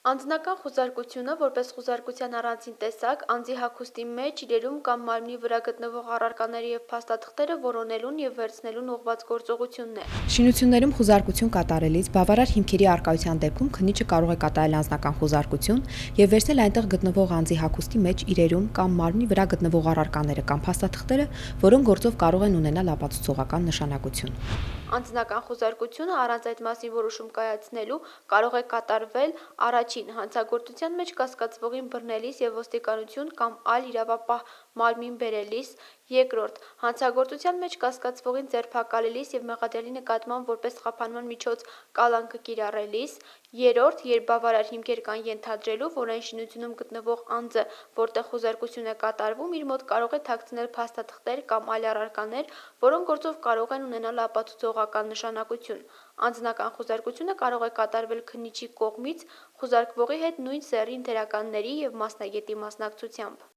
Անձնական խուզարկությունը, որպես խուզարկության առանձին տեսակ, անձի հագուստի մեջ, իրերում կամ մարմնի վրա գտնվող առարկաները և փաստաթղթերը որոնելուն և վերցնելուն ուղղված գործողություն է։ Շինություններում խուզարկություն կատարելիս բավարար հիմքերի առկայության դեպքում քննիչը կարող է կատարել անձնական խուզարկություն և վերցնել այնտեղ գտնվող անձի հագուստի մեջ, իրերում կամ մարմնի վրա գտնվող առարկաները կամ փաստաթղթերը, որոնք գործով կարող են ունենալ ապացուցողական նշանակություն։ Անձնական խուզարկությունը առանց այդ մասին որոշում կայացնելու կարող է կատարվել առաջին հանցագործության մեջ կասկածվողին բռնելիս և ոստիկանություն կամ այլ իրավապահ մարմին բերելիս, երկրորդ հանցագործության մեջ կասկածվողին ձերբակալելիս և մեղադրյալի նկատմամբ որպես խափանման միջոց կալանքը կիրառելիս, երրորդ երբ բավարար հիմքեր կան ենթադրելու, որ այն շինությունում գտնվող անձը, որտեղ խուզարկություն է կատարվում, իր մոտ կարող է թաքցնել փաստաթղթեր կամ այլ առարկաներ, որոնք գործով կարող են ունենալ ապացուցողական նշանակություն։ Անձնական խուզարկությունը կարող է կատարվել քննիչի կողմից խուզարկվողի հետ նույն սեռի ընկերականների և մասնագետի մասնակցությամբ։